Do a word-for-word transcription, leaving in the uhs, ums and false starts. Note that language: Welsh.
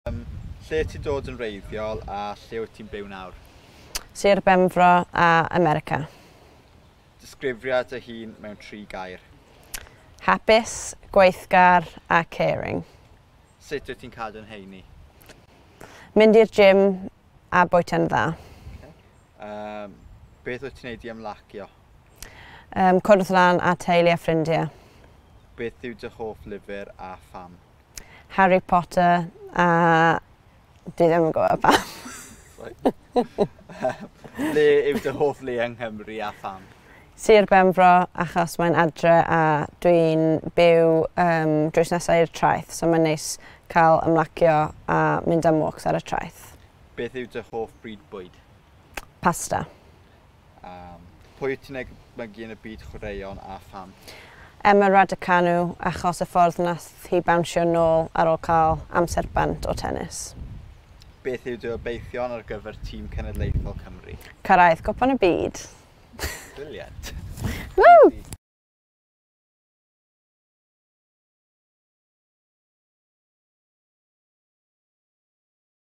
Um, lle ti'n dod yn wreiddiol a lle wyt ti'n byw nawr? Sir Benfro a America. Disgrifia dy hun mewn tri gair. Hapus, gweithgar a caring. Sut wyt ti'n cadw'n heini? Mynd i'r gym a bwyta'n dda. Um, beth wyt ti'n neud i ymlacio? Um, cwrdd lan a teulu a ffrindiau. Beth yw dy hoff lyfr a pham? Harry Potter a dwi ddim yn gwybod pam. Le yw dy hoff le yng Nghymru a pham? Sir Benfro achos mae'n adre a dwi'n byw um, drws nesaf i'r traeth, so mae'n neis cael ymlacio a mynd am walks ar y traeth. Beth yw dy hoff bryd bwyd? Pasta. Um, pwy wyt ti'n edmygu yn y byd chwaraeon a pham? Emma Raducanu achos y ffordd nath hi bownsio nôl ar ôl cael amser bant o tennis. Beth yw dy obeithion ar gyfer tîm cenedlaethol Cymru? Cyrraedd Cwpan y Byd. Brilliant.